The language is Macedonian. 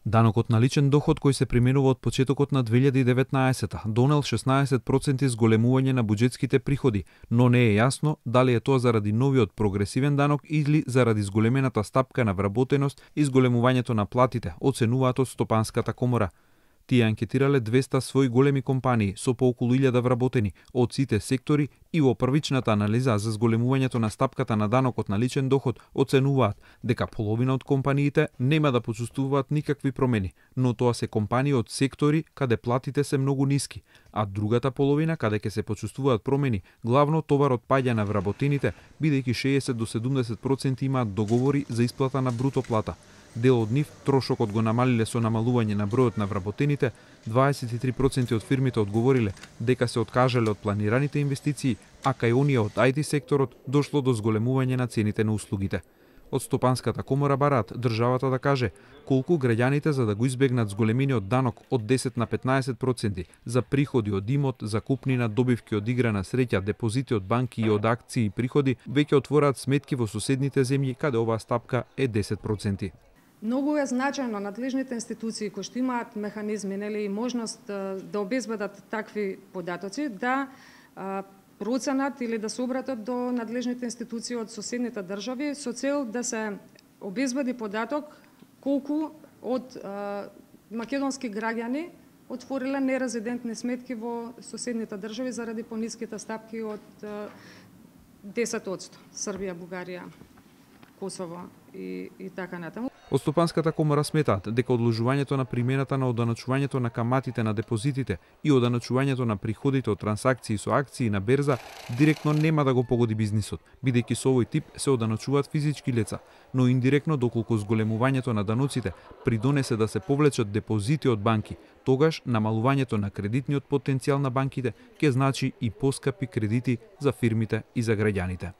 Данокот на личен доход кој се применува од почетокот на 2019 донел 16% зголемување на буџетските приходи, но не е јасно дали е тоа заради новиот прогресивен данок или заради зголемената стапка на вработеност и зголемувањето на платите, оценуваат од Стопанската комора. Тие анкетирале 200 своји големи компании со по околу 1000 вработени од сите сектори и во првичната анализа за зголемувањето на стапката на данокот на личен доход оценуваат дека половина од компаниите нема да почувствуваат никакви промени, но тоа се компании од сектори каде платите се многу ниски, а другата половина каде ќе се почувствуваат промени, главно товарот паѓа на вработените, бидејќи 60 до 70% имаат договори за исплата на бруто плата. Дел од нив трошокот го намалиле со намалување на бројот на вработените, 23% од фирмите одговориле дека се откажале од планираните инвестиции, а кај оние од IT секторот дошло до зголемување на цените на услугите. Од Стопанската комора бараат државата да каже колку граѓаните за да го избегнат зголемениот данок од 10 на 15% за приходи од имот, закупнина, добивки од игра на среќа, депозити од банки и од акции и приходи, веќе отвораат сметки во соседните земји каде оваа стапка е 10%. Многу е значајно надлежните институции кои што имаат механизми и можност да обезбедат такви податоци, да проценат или да се обратат до надлежните институции од соседните држави со цел да се обезбеди податок колку од македонски граѓани отвориле нерезидентни сметки во соседните држави заради пониските стапки од 10%. Србија, Бугарија, Косово и така натаму. Од Стопанската комора сметаат дека одложувањето на примената на оданачувањето на каматите на депозитите и оданачувањето на приходите од трансакции со акции на берза директно нема да го погоди бизнисот, бидејќи со овој тип се оданачуваат физички лица, но индиректно доколку зголемувањето на даноците придонесе да се повлечат депозити од банки, тогаш намалувањето на кредитниот потенцијал на банките ќе значи и поскапи кредити за фирмите и за граѓаните.